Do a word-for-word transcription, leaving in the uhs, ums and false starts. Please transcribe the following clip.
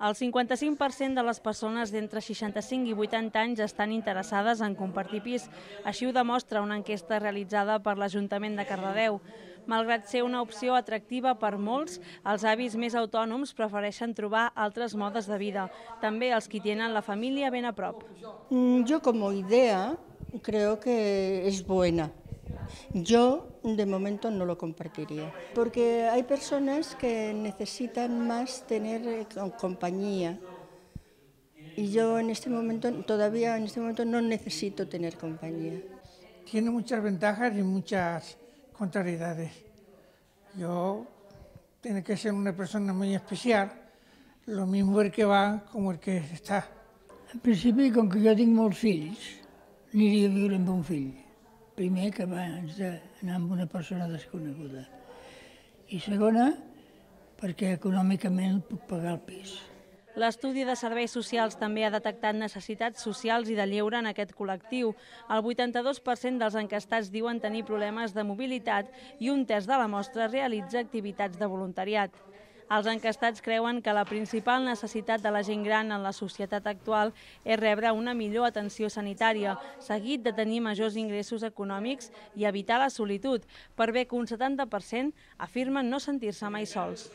El cinquanta-cinc per cent de les persones d'entre seixanta-cinc i vuitanta anys estan interessades en compartir pis. Així ho demostra una enquesta realitzada per l'Ajuntament de Cardedeu. Malgrat ser una opció atractiva per molts, els avis més autònoms prefereixen trobar altres modes de vida, també els qui tenen la família ben a prop. Yo como idea creo que es buena. Yo de momento no lo compartiría, porque hay personas que necesitan más tener compañía y yo en este momento, todavía en este momento no necesito tener compañía. Tiene muchas ventajas y muchas contrariedades. Yo tiene que ser una persona muy especial, lo mismo el que va como el que està. En principi, com que jo tinc molts fills, aniria a viure amb un fill. Primer, que abans d'anar amb una persona desconeguda. I segona, perquè econòmicament puc pagar el pis. L'estudi de serveis socials també ha detectat necessitats socials i de lleure en aquest col·lectiu. El vuitanta-dos per cent dels enquestats diuen tenir problemes de mobilitat i un terç de la mostra realitza activitats de voluntariat. Els enquestats creuen que la principal necessitat de la gent gran en la societat actual és rebre una millor atenció sanitària, seguit de tenir majors ingressos econòmics i evitar la solitud, per bé que un setanta per cent afirmen no sentir-se mai sols.